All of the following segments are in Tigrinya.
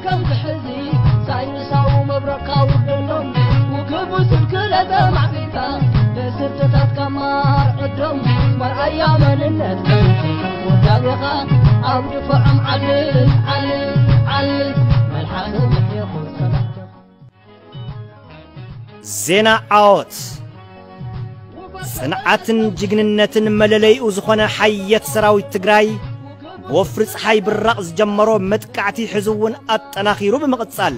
ከም ክሕዚ ሳይንሳዊ መብረቕካ ውርደሎም፣ ውክቡ ስንክለ ተማዕቢልካ፣ ደስርትታት ካብ ማር ዕዶም፣ መርኣያ መንነት ወዳቤኻ፣ ኣብ ድፋዖም ዓልል፣ ዓልል፣ ዓልል፣ መልሓሰ ምሕየኹ ሰላም። ዜና ዓወት። ጽንዓትን ጅግንነትን መለለይኡ ዝኾነ ሓየት ሰራዊት ትግራይ፣ ብወፍሪ ጸሓይ ብራቕ ዝጀመሮ መጥቃዕቲ ሕዚ እውን ኣጠናኺሩ ብምቕጻል፣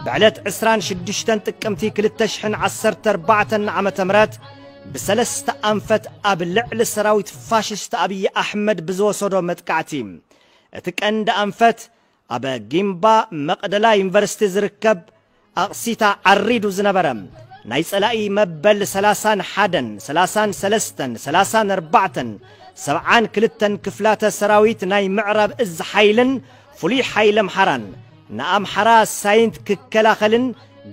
ብዕለት ዕስራን ሽዱሽተን ጥቅምቲ ክልተ ሽሕን ዓሰርተ ኣርባዕተን ዓመተ ምህረት ብሰለስተ ኣንፈት ኣብ ልዕሊ ሰራዊት ፋሽስት ኣብይ ኣሕመድ ብዝወሰዶ መጥቃዕቲ፣ እቲ ቀንዲ ኣንፈት ኣብ ጊምባ መቕደላ ዩኒቨርሲቲ ዝርከብ ኣቕሲታ ዓሪዱ ዝነበረ ናይ ጸላኢ መበል ሰላሳን ሓደን፣ ሰላሳን ሰለስተን፣ ሰላሳን ኣርባዕተን፣ ሰብዓን ክልተን ክፍላተ ሰራዊት ናይ ምዕራብ እዝ ሓይልን ፍሉይ ሓይሊ ኣምሓራን ንኣምሓራ ሳይንት ክከላኸልን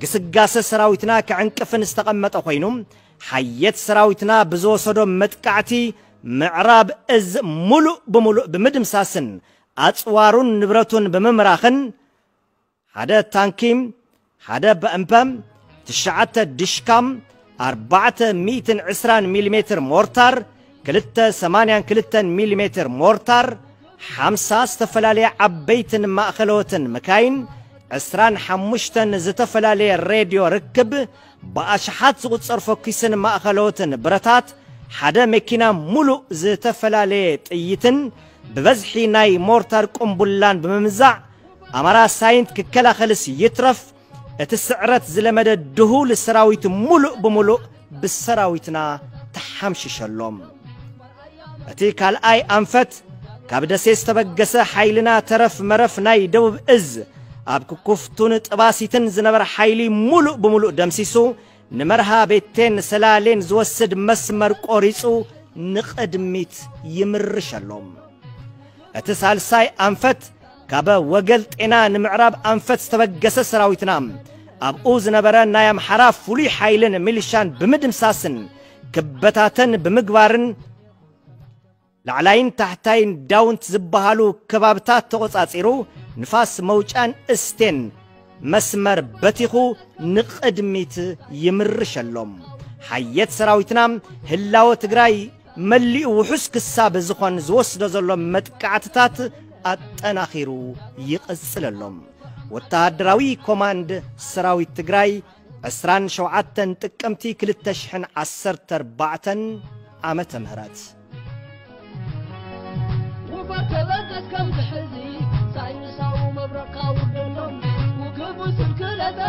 ግስጋሰ ሰራዊትና ክዕንቅፍን ዝተቐመጠ ኮይኑ፣ ሓየት ሰራዊትና ብዝወሰዶ መጥቃዕቲ ምዕራብ እዝ ሙሉእ ብሙሉእ ብምድምሳስን ኣጽዋሩን ንብረቱን ብምምራኽን፣ ሓደ ታንኪ፣ ሓደ በእምፐ፣ ትሽዓተ ድሽካም፣ ኣርባዕተ ሚእትን ዕስራን ሚሊሜትር ሞርታር፣ ክልተ ሰማንያን ክልተን ሚሊሜትር ሞርታር፣ ሓምሳ ዝተፈላለያ ዓበይትን ማእኸለዎትን መካይን፣ ዕስራን ሓሙሽተን ዝተፈላለየ ሬድዮ ርክብ፣ ብኣሽሓት ዝቑጸር ፈኲስን ማእኸለዎትን ብረታት፣ ሓደ መኪና ሙሉእ ዝተፈላለየ ጥይትን ብበዝሒ ናይ ሞርታር ቁምቡላን ብምምዛዕ፣ ኣማራ ሳይንት ክከላኸልስ ይትረፍ፣ እቲ ስዕረት ዝለመደ ድሁል ሰራዊት ሙሉእ ብሙሉእ ብሰራዊትና ተሓምሽሸሎም። እቲ ካልኣይ ኣንፈት፣ ካብ ደሴ ዝተበገሰ ሓይልና ተረፍ መረፍ ናይ ደቡብ እዝ፣ ኣብ ክኩፍቱን ጥባሲትን ዝነበረ ሓይሊ ሙሉእ ብሙሉእ ደምሲሱ፣ ንመርሃ ቤቴን ሰላሌን ዝወስድ መስመር ቆሪጹ ንቕድሚት ይምርሸሎም። እቲ ሳልሳይ ኣንፈት፣ ካብ ወገል ጤና ንምዕራብ ኣንፈት ዝተበገሰ ሰራዊትና፣ ኣብኡ ዝነበረ ናይ ኣምሓራ ፍሉይ ሓይልን ሚሊሻን ብምድምሳስን ክበታተን ብምግባርን፣ ላዕላይን ታሕታይን ዳውንት ዝበሃሉ ከባብታት ተቖጻጺሩ፣ ንፋስ መውጫን እስቴን መስመር በቲኹ ንቕድሚት ይምርሸሎም። ሓየት ሰራዊትና ህላወ ትግራይ መሊኡ ውሑስ ክሳብ ዝኾን ዝወስዶ ዘሎ መጥቃዕትታት ኣጠናኺሩ ይቕጽለሎም። ወተሃደራዊ ኮማንድ ሰራዊት ትግራይ፣ ዕስራን ሸውዓተን ጥቅምቲ ክልተ ሽሕን ዓሰርተ ኣርባዕተን ዓመተ ምህረት። ውፈር ተበገስ ከም ዝሕዚ ሳይንሳዊ መብረቕካ ውርደሎም፣ ውግቡ ስንክለተ